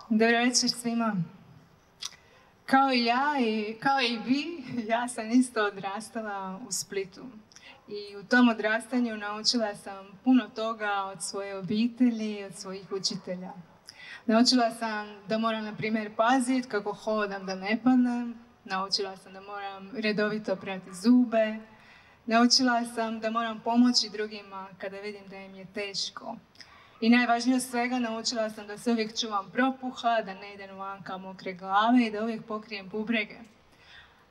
Dobar večer svima. Kao i ja i kao i vi, ja sam isto odrastala u Splitu. I u tom odrastanju naučila sam puno toga od svoje obitelji, od svojih učitelja. Naučila sam da moram, na primjer, paziti kako hodam da ne padnem. Naučila sam da moram redovito prati zube. Naučila sam da moram pomoći drugima kada vidim da im je teško. I najvažnije od svega, naučila sam da se uvijek čuvam propuha, da ne idem vanka mokre glave i da uvijek pokrijem bubrege.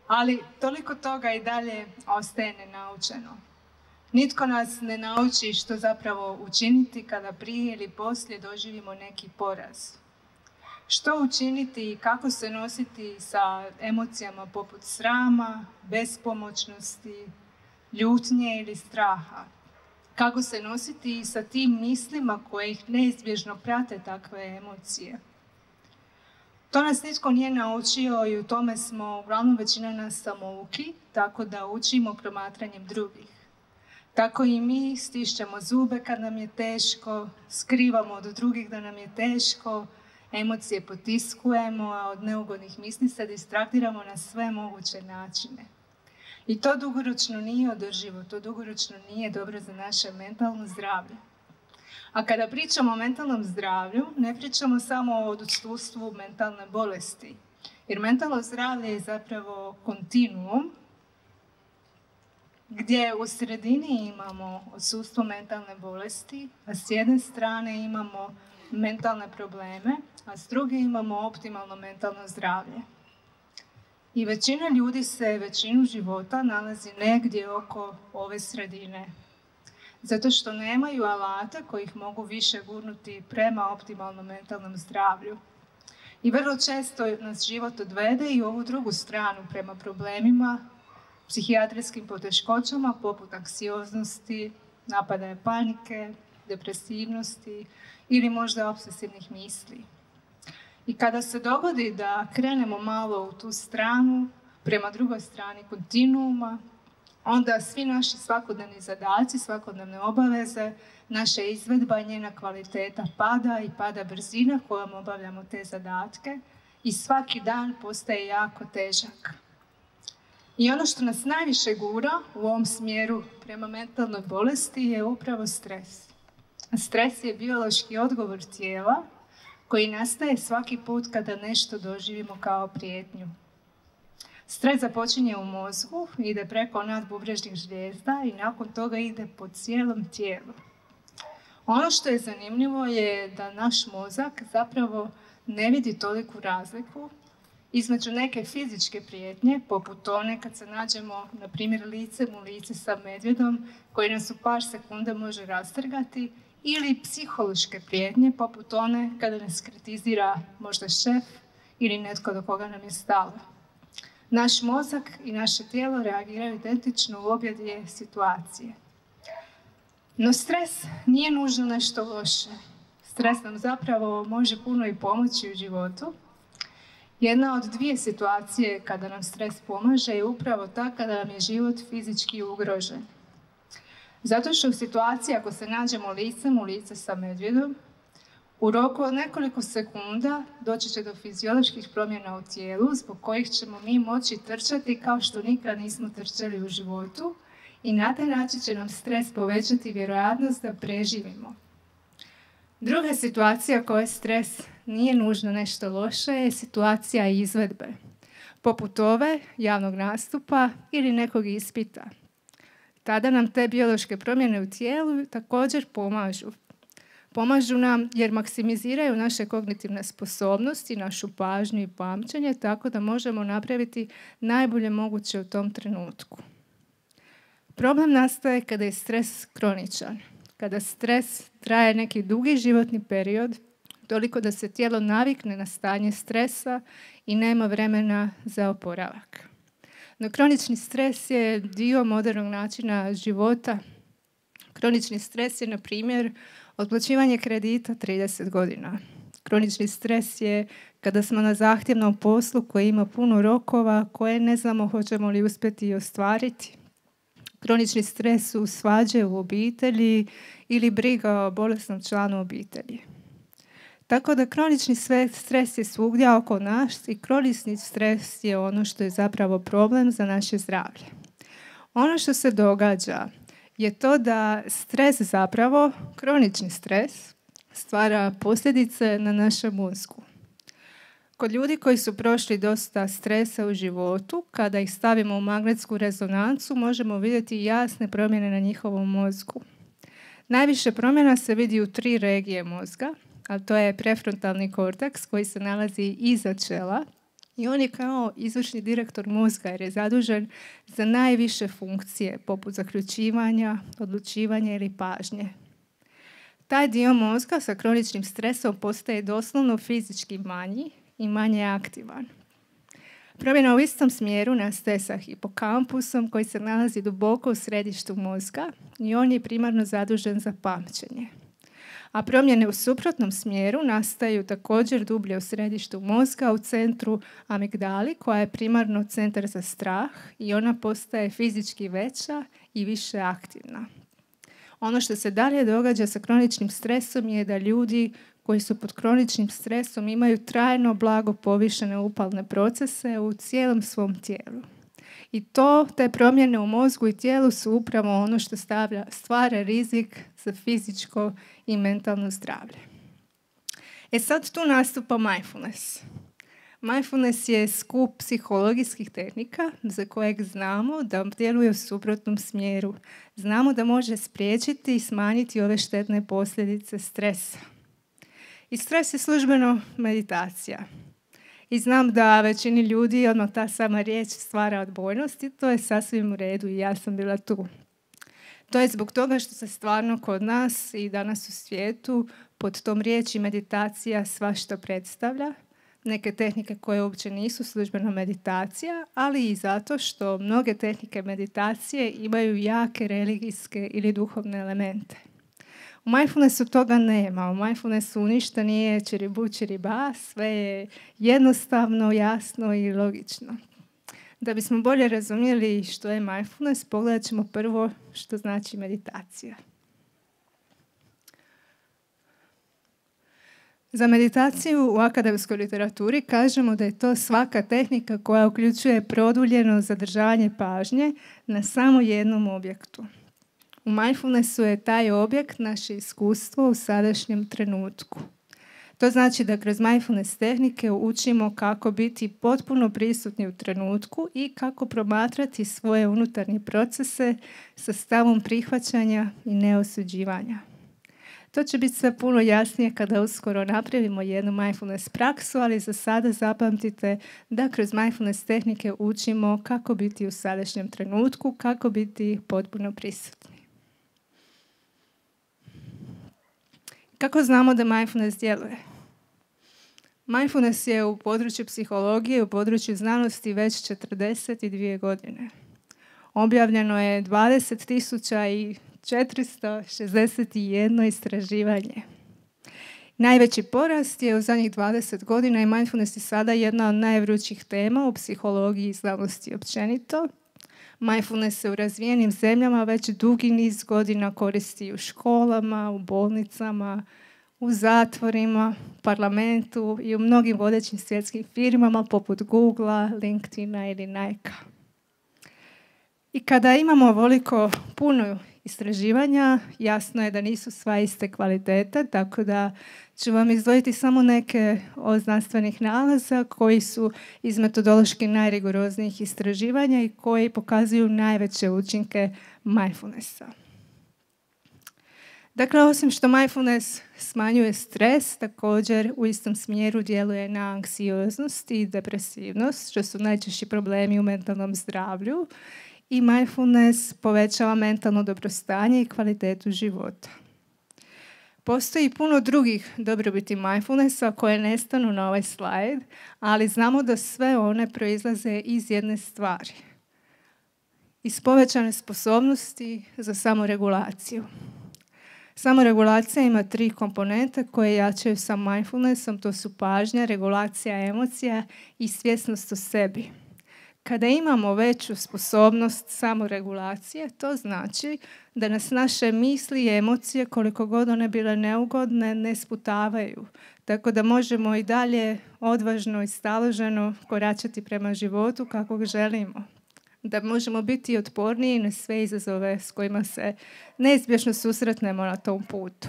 Ali toliko toga i dalje ostaje nenaučeno. Nitko nas ne nauči što zapravo učiniti kada prije ili poslije doživimo neki poraz. Što učiniti i kako se nositi sa emocijama poput srama, bespomoćnosti, ljutnje ili straha. Kako se nositi sa tim mislima koje ih neizbježno prate takve emocije. To nas nitko nije naučio i u tome smo uglavnom većina nas samouki, tako da učimo promatranjem drugih. Tako i mi stišćemo zube kad nam je teško, skrivamo od drugih da nam je teško, emocije potiskujemo, a od neugodnih misli se distraktiramo na sve moguće načine. I to dugoročno nije održivo, to dugoročno nije dobro za naše mentalno zdravlje. A kada pričamo o mentalnom zdravlju, ne pričamo samo o odsustvu mentalne bolesti. Jer mentalno zdravlje je zapravo kontinuum, gdje u sredini imamo odsustvo mentalne bolesti, a s jedne strane imamo mentalne probleme, a s druge imamo optimalno mentalno zdravlje. I većina ljudi se većinu života nalazi negdje oko ove sredine. Zato što nemaju alata koji ih mogu više gurnuti prema optimalnom mentalnom zdravlju. I vrlo često nas život odvede i u ovu drugu stranu prema problemima, psihijatrijskim poteškoćama poput anksioznosti, napadaja panike, depresivnosti ili možda obsesivnih misli. I kada se dogodi da krenemo malo u tu stranu, prema drugoj strani kontinuuma, onda svi naši svakodnevni zadaci, svakodnevne obaveze, naša izvedba i njena kvaliteta pada i pada brzina kojom obavljamo te zadatke i svaki dan postaje jako težak. I ono što nas najviše gura u ovom smjeru prema mentalnoj bolesti je upravo stres. A stres je biološki odgovor tijela koji nastaje svaki put kada nešto doživimo kao prijetnju. Stres započinje u mozgu, ide preko nadbubrežnih žlijezda i nakon toga ide po cijelom tijelu. Ono što je zanimljivo je da naš mozak zapravo ne vidi toliku razliku između neke fizičke prijetnje, poput one kad se nađemo, na primjer, licem u lice sa medvjedom koji nas u par sekunda može rastrgati, ili psihološke prijetnje, poput one kada nas kritizira možda šef ili netko do koga nam je stalo. Naš mozak i naše tijelo reagiraju identično u obje dvije situacije. No stres nije nužno nešto loše. Stres nam zapravo može puno i pomoći u životu. Jedna od dvije situacije kada nam stres pomaže je upravo ta kada nam je život fizički ugrožen. Zato što u situaciji ako se nađemo licem u lice sa medvjedom, u roku od nekoliko sekunda doći će do fizioloških promjena u tijelu zbog kojih ćemo mi moći trčati kao što nikad nismo trčali u životu i na taj način će nam stres povećati vjerojatnost da preživimo. Druga situacija koja stres nije nužno nešto loše je situacija izvedbe, poput ove javnog nastupa ili nekog ispita. Tada nam te biološke promjene u tijelu također pomažu. Pomažu nam jer maksimiziraju naše kognitivne sposobnosti, našu pažnju i pamćenje, tako da možemo napraviti najbolje moguće u tom trenutku. Problem nastaje kada je stres kroničan. Kada stres traje neki dugi životni period, toliko da se tijelo navikne na stanje stresa i nema vremena za oporavak. No kronični stres je dio modernog načina života. Kronični stres je, na primjer, otplaćivanje kredita 30 godina. Kronični stres je kada smo na zahtjevnom poslu koji ima puno rokova koje ne znamo hoćemo li uspjeti ostvariti. Kronični stres su svađe u obitelji ili briga o bolesnom članu obitelji. Tako da kronični stres je svugdje oko nas i kronični stres je ono što je zapravo problem za naše zdravlje. Ono što se događa je to da stres zapravo, kronični stres, stvara posljedice na našem mozgu. Kod ljudi koji su prošli dosta stresa u životu, kada ih stavimo u magnetsku rezonancu, možemo vidjeti jasne promjene na njihovom mozgu. Najviše promjena se vidi u 3 regije mozga, a to je prefrontalni korteks koji se nalazi iza čela i on je kao izvršni direktor mozga jer je zadužen za najviše funkcije poput zaključivanja, odlučivanja ili pažnje. Taj dio mozga sa kroničnim stresom postaje doslovno fizički manji i manje aktivan. Promjena u istom smjeru nastaje sa hipokampusom koji se nalazi duboko u središtu mozga i on je primarno zadužen za pamćenje. A promjene u suprotnom smjeru nastaju također dublje u središtu mozga u centru amigdali koja je primarno centar za strah i ona postaje fizički veća i više aktivna. Ono što se dalje događa sa kroničnim stresom je da ljudi koji su pod kroničnim stresom imaju trajno blago povišene upalne procese u cijelom svom tijelu. I te promjene u mozgu i tijelu su upravo ono što stvara rizik za fizičko i mentalno zdravlje. Sad tu nastupa mindfulness. Mindfulness je skup psihologijskih tehnika za kojeg znamo da djeluje u suprotnom smjeru. Znamo da može spriječiti i smanjiti ove štetne posljedice stresa. I stres je službeno meditacija. I znam da većini ljudi odmah ta sama riječ stvara odbojnost i to je sasvim u redu i ja sam bila tu. To je zbog toga što se stvarno kod nas i danas u svijetu pod tom riječi meditacija svašta predstavlja. Neke tehnike koje uopće nisu službeno meditacija, ali i zato što mnoge tehnike meditacije imaju jake religijske ili duhovne elemente. U mindfulnessu toga nema. U mindfulnessu ništa nije čiribu čiriba, sve je jednostavno, jasno i logično. Da bismo bolje razumjeli što je mindfulness, pogledat ćemo prvo što znači meditacija. Za meditaciju u akademskoj literaturi kažemo da je to svaka tehnika koja uključuje produljeno zadržavanje pažnje na samo jednom objektu. U mindfulnessu je taj objekt naše iskustvo u sadašnjem trenutku. To znači da kroz mindfulness tehnike učimo kako biti potpuno prisutni u trenutku i kako promatrati svoje unutarnje procese sa stavom prihvaćanja i neosuđivanja. To će biti sve puno jasnije kada uskoro napravimo jednu mindfulness praksu, ali za sada zapamtite da kroz mindfulness tehnike učimo kako biti u sadašnjem trenutku, kako biti potpuno prisutni. Kako znamo da mindfulness djeluje? Mindfulness je u području psihologije, u području znanosti već 42 godine. Objavljeno je 20.461 istraživanje. Najveći porast je u zadnjih 20 godina i mindfulness je sada jedna od najvrućih tema u psihologiji i znanosti općenito. Mindfulness se u razvijenim zemljama već dugi niz godina koristi u školama, u bolnicama, u zatvorima, u parlamentu i u mnogim vodećim svjetskim firmama poput Googlea, LinkedIna ili Nike-a. I kada imamo ovoliko puno istraživanja, jasno je da nisu sva iste kvalitete, tako da ću vam izdvojiti samo neke od znanstvenih nalaza koji su iz metodološki najrigoroznijih istraživanja i koji pokazuju najveće učinke mindfulnessa. Dakle, osim što mindfulness smanjuje stres, također u istom smjeru djeluje na anksioznost i depresivnost, što su najčešći problemi u mentalnom zdravlju. I mindfulness povećava mentalno dobrostanje i kvalitetu života. Postoji puno drugih dobrobiti mindfulnessa koje ne stanu na ovaj slajd, ali znamo da sve one proizlaze iz jedne stvari. Iz povećane sposobnosti za samoregulaciju. Samoregulacija ima 3 komponente koje jačaju sa mindfulnessom, to su pažnja, regulacija emocija i svjesnost o sebi. Kada imamo veću sposobnost samoregulacije, to znači da nas naše misli i emocije, koliko god one bile neugodne, ne sputavaju. Tako da možemo i dalje odvažno i staloženo koračati prema životu kako ga želimo. Da možemo biti otporniji na sve izazove s kojima se neizbježno susretnemo na tom putu.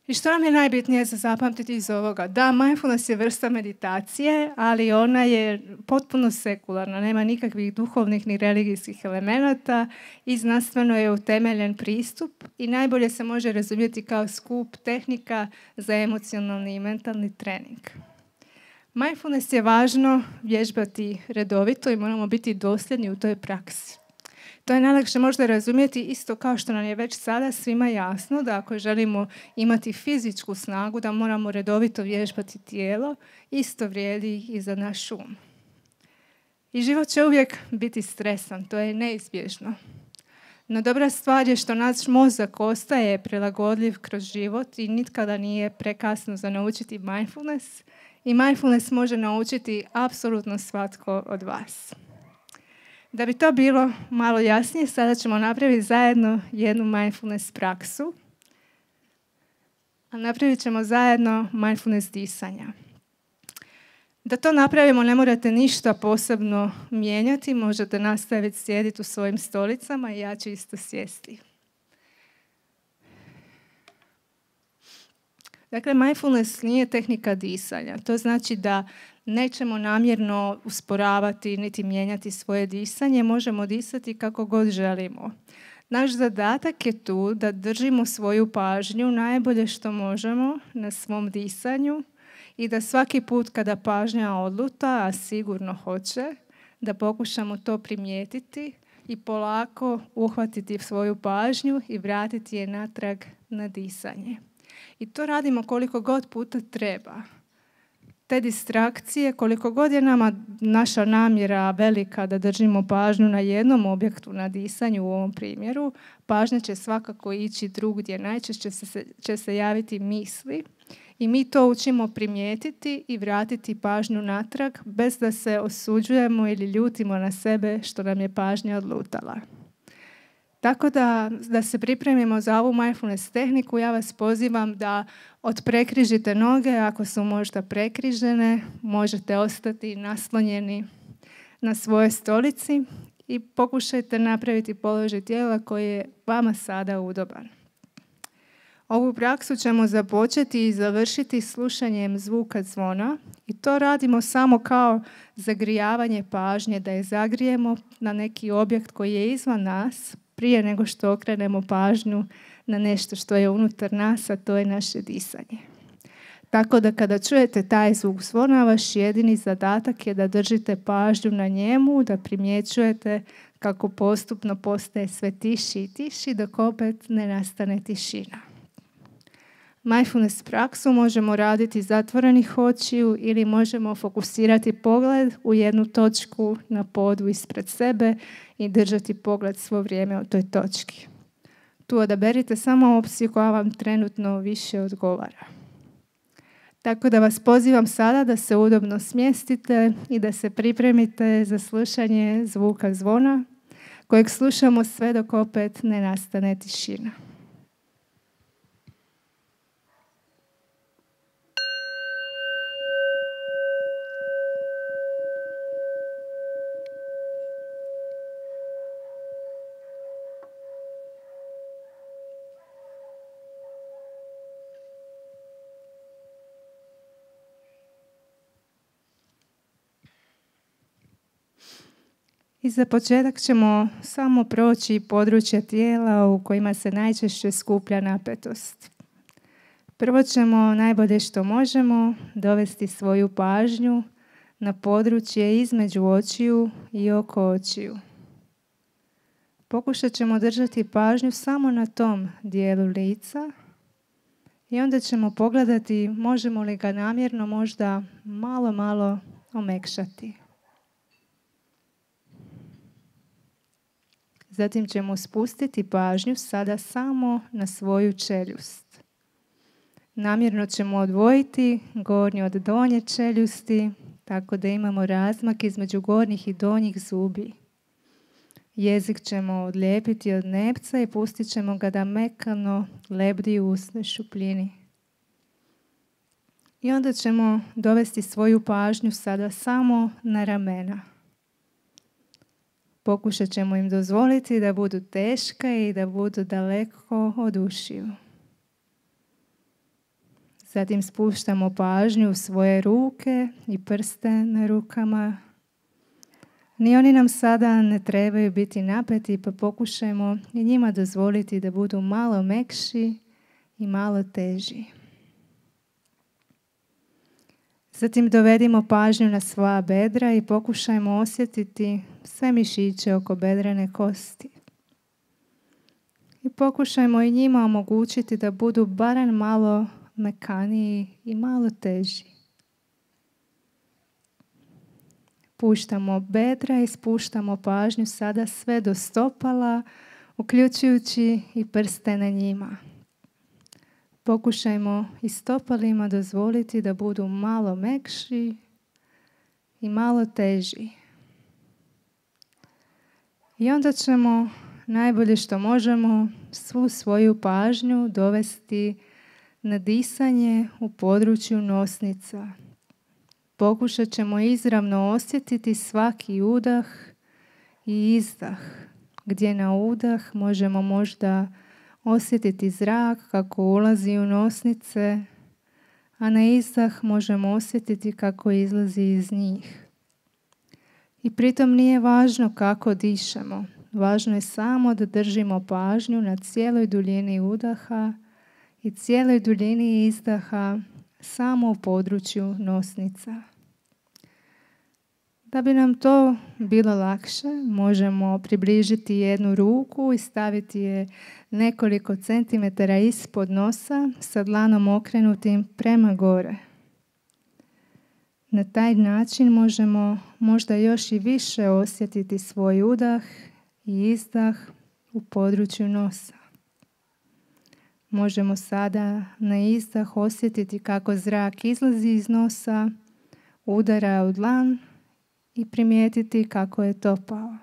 I što nam je najbitnije za zapamtiti iz ovoga? Da, mindfulness je vrsta meditacije, ali ona je potpuno sekularna, nema nikakvih duhovnih ni religijskih elemenata i znanstveno je utemeljen pristup i najbolje se može razumjeti kao skup tehnika za emocionalni i mentalni trening. Mindfulness je važno vježbati redovito i moramo biti dosljedni u toj praksi. To je najlakše možda razumjeti isto kao što nam je već sada svima jasno da ako želimo imati fizičku snagu da moramo redovito vježbati tijelo, isto vrijedi i za naš um. I život će uvijek biti stresan, to je neizbježno. No dobra stvar je što naš mozak ostaje prilagodljiv kroz život i nikada nije prekasno za naučiti mindfulness i mindfulness može naučiti apsolutno svatko od vas. Da bi to bilo malo jasnije, sada ćemo napraviti zajedno jednu mindfulness praksu. A napravit ćemo zajedno mindfulness disanja. Da to napravimo ne morate ništa posebno mijenjati, možete nastaviti sjediti u svojim stolicama i ja ću isto sjesti. Dakle, mindfulness nije tehnika disanja. To znači da nećemo namjerno usporavati niti mijenjati svoje disanje, možemo disati kako god želimo. Naš zadatak je tu da držimo svoju pažnju najbolje što možemo na svom disanju i da svaki put kada pažnja odluta, a sigurno hoće, da pokušamo to primijetiti i polako uhvatiti svoju pažnju i vratiti je natrag na disanje. I to radimo koliko god puta treba. Te distrakcije, koliko god je nama naša namjera velika da držimo pažnju na jednom objektu na disanju u ovom primjeru, pažnja će svakako ići drugdje. Najčešće će se javiti misli i mi to učimo primijetiti i vratiti pažnju natrag bez da se osuđujemo ili ljutimo na sebe što nam je pažnja odlutala. Tako da se pripremimo za ovu mindfulness tehniku, ja vas pozivam da otprekrižite noge, ako su možda prekrižene, možete ostati naslonjeni na svojoj stolici i pokušajte napraviti položaj tijela koji je vama sada udoban. Ovu praksu ćemo započeti i završiti slušanjem zvuka zvona i to radimo samo kao zagrijavanje pažnje, da je zagrijemo na neki objekt koji je izvan nas, prije nego što okrenemo pažnju na nešto što je unutar nas, a to je naše disanje. Tako da kada čujete taj zvuk zvona, vaš jedini zadatak je da držite pažnju na njemu, da primjećujete kako postupno postaje sve tiši i tiši, dok opet ne nastane tišina. Mindfulness praksu možemo raditi zatvorenih očiju ili možemo fokusirati pogled u jednu točku na podu ispred sebe i držati pogled svo vrijeme u toj točki. Tu odaberite samo opciju koja vam trenutno više odgovara. Tako da vas pozivam sada da se udobno smjestite i da se pripremite za slušanje zvuka zvona kojeg slušamo sve dok opet ne nastane tišina. I za početak ćemo samo proći područja tijela u kojima se najčešće skuplja napetost. Prvo ćemo najbolje što možemo dovesti svoju pažnju na područje između očiju i oko očiju. Pokušat ćemo držati pažnju samo na tom dijelu lica i onda ćemo pogledati možemo li ga namjerno možda malo omekšati. Zatim ćemo spustiti pažnju sada samo na svoju čeljust. Namjerno ćemo odvojiti gornju od donje čeljusti, tako da imamo razmak između gornjih i donjih zubi. Jezik ćemo odlijepiti od nepca i pustit ćemo ga da mekano lebdi u usnoj šupljini. I onda ćemo dovesti svoju pažnju sada samo na ramena. Pokušat ćemo im dozvoliti da budu teška i da budu daleko od ušiju. Zatim spuštamo pažnju u svoje ruke i prste na rukama. Ni oni nam sada ne trebaju biti napeti, pa pokušajmo i njima dozvoliti da budu malo mekši i malo teži. Zatim dovedimo pažnju na svoja bedra i pokušajmo osjetiti sve mišiće oko bedrene kosti. I pokušajmo i njima omogućiti da budu barem malo mekaniji i malo teži. Puštamo bedra i spuštamo pažnju sada sve do stopala, uključujući i prste na njima. Pokušajmo i stopalima dozvoliti da budu malo mekši i malo teži. I onda ćemo najbolje što možemo svu svoju pažnju dovesti na disanje u području nosnica. Pokušat ćemo izravno osjetiti svaki udah i izdah, gdje na udah možemo možda osjetiti zrak kako ulazi u nosnice, a na izdah možemo osjetiti kako izlazi iz njih. I pritom nije važno kako dišemo, važno je samo da držimo pažnju na cijeloj duljini udaha i cijeloj duljini izdaha samo u području nosnica. Da bi nam to bilo lakše, možemo približiti jednu ruku i staviti je nekoliko centimetara ispod nosa sa dlanom okrenutim prema gore. Na taj način možemo možda još i više osjetiti svoj udah i izdah u području nosa. Možemo sada na izdah osjetiti kako zrak izlazi iz nosa, udara u dlan i primijetiti kako je topao.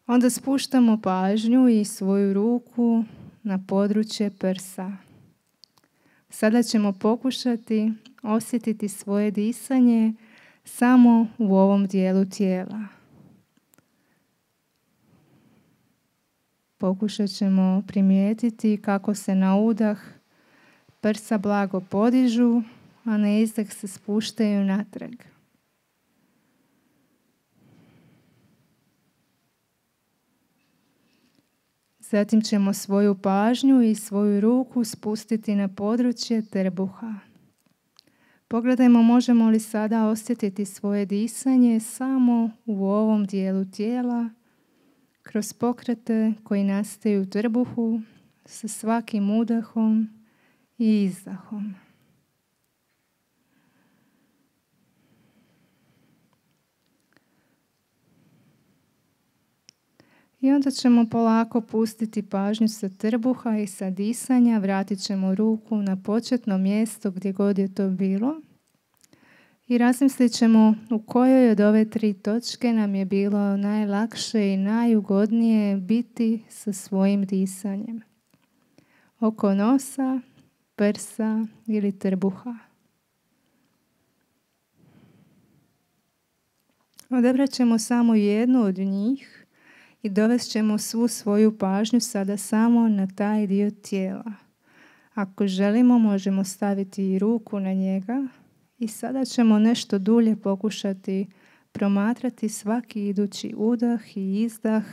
Onda spuštamo pažnju i svoju ruku na područje prsa. Sada ćemo pokušati osjetiti svoje disanje samo u ovom dijelu tijela. Pokušat ćemo primijetiti kako se na udah prsa blago podižu, a na izdah se spuštaju natrag. Zatim ćemo svoju pažnju i svoju ruku spustiti na područje trbuha. Pogledajmo možemo li sada osjetiti svoje disanje samo u ovom dijelu tijela, kroz pokrete koji nastaju u trbuhu sa svakim udahom i izdahom. I onda ćemo polako pustiti pažnju sa trbuha i sa disanja. Vratit ćemo ruku na početno mjesto gdje god je to bilo. I razmislit ćemo u kojoj od ove 3 točke nam je bilo najlakše i najugodnije biti sa svojim disanjem. Oko nosa, prsa ili trbuha. Odabrat ćemo samo jednu od njih i dovest ćemo svu svoju pažnju sada samo na taj dio tijela. Ako želimo, možemo staviti i ruku na njega i sada ćemo nešto dulje pokušati promatrati svaki idući udah i izdah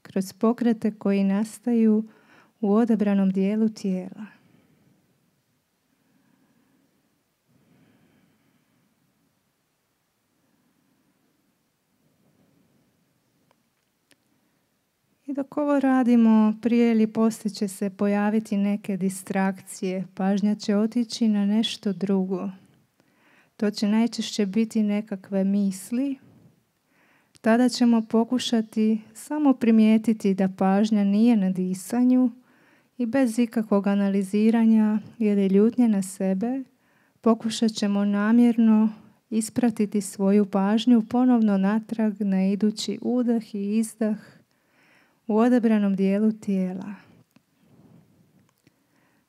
kroz pokrete koji nastaju u odabranom dijelu tijela. I dok ovo radimo, prije ili poslije će se pojaviti neke distrakcije. Pažnja će otići na nešto drugo. To će najčešće biti nekakve misli. Tada ćemo pokušati samo primijetiti da pažnja nije na disanju I bez ikakvog analiziranja ili ljutnje na sebe, pokušat ćemo namjerno ispratiti svoju pažnju ponovno natrag na idući udah i izdah u odabranom dijelu tijela,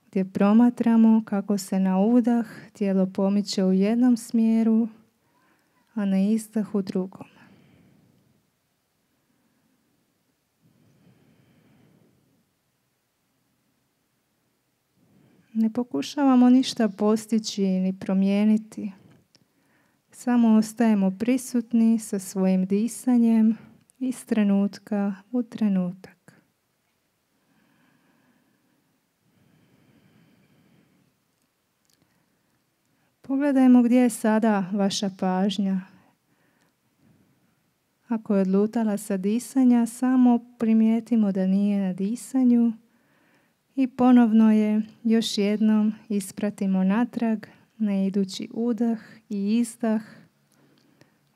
gdje promatramo kako se na udah tijelo pomiče u jednom smjeru, a na izdah u drugom. Ne pokušavamo ništa postići ni promijeniti. Samo ostajemo prisutni sa svojim disanjem iz trenutka u trenutak. Pogledajmo gdje je sada vaša pažnja. Ako je odlutala sa disanja, samo primijetimo da nije na disanju i ponovno je još jednom ispratimo natrag na idući udah i izdah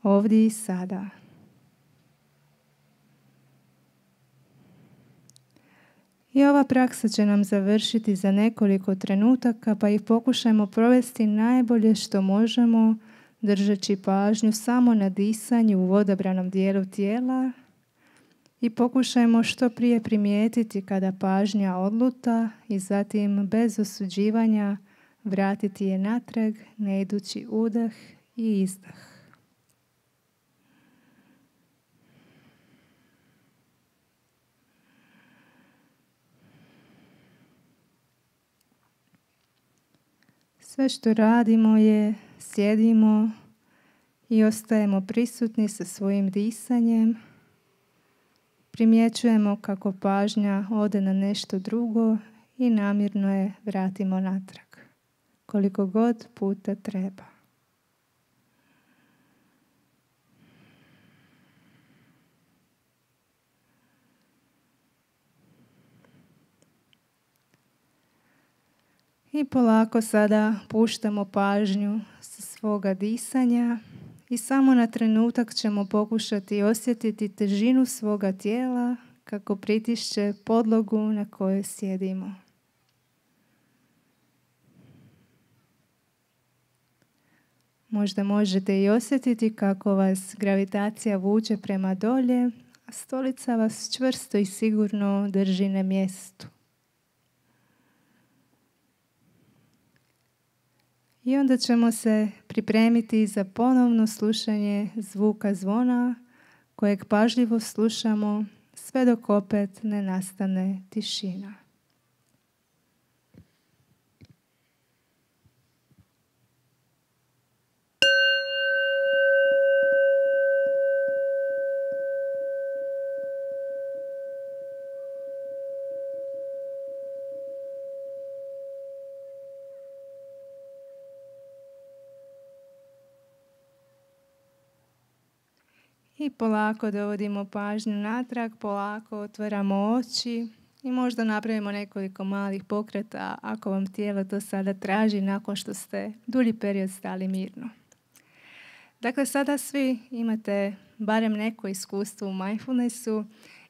ovdje i sada. I ova praksa će nam završiti za nekoliko trenutaka, pa ih pokušajmo provesti najbolje što možemo, držeći pažnju samo na disanju u odabranom dijelu tijela i pokušajmo što prije primijetiti kada pažnja odluta i zatim bez osuđivanja vratiti je natrag na idući udah i izdah. Sve što radimo je sjedimo i ostajemo prisutni sa svojim disanjem. Primjećujemo kako pažnja ode na nešto drugo i namjerno je vratimo natrag, koliko god puta treba. I polako sada puštamo pažnju sa svoga disanja i samo na trenutak ćemo pokušati osjetiti težinu svoga tijela kako pritišće podlogu na kojoj sjedimo. Možda možete i osjetiti kako vas gravitacija vuče prema dolje, a stolica vas čvrsto i sigurno drži na mjestu. I onda ćemo se pripremiti za ponovno slušanje zvuka zvona kojeg pažljivo slušamo sve dok opet ne nastane tišina. I polako dovodimo pažnju natrag, polako otvaramo oči i možda napravimo nekoliko malih pokreta ako vam tijelo to sada traži nakon što ste dulji period stali mirno. Dakle, sada svi imate barem neko iskustvo u mindfulnessu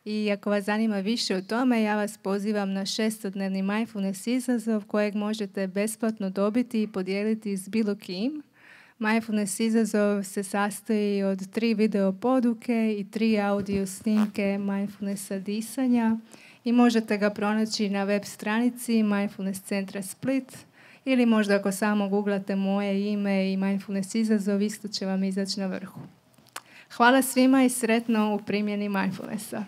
i ako vas zanima više o tome, ja vas pozivam na 6-dnevni mindfulness izazov kojeg možete besplatno dobiti i podijeliti s bilo kim. Mindfulness izazov se sastoji od 3 video poduke i 3 audio snimke mindfulnessa disanja i možete ga pronaći na web stranici Mindfulness centra Split ili možda ako samo googlate moje ime i mindfulness izazov, isto će vam izaći na vrhu. Hvala svima i sretno u primjeni mindfulnessa.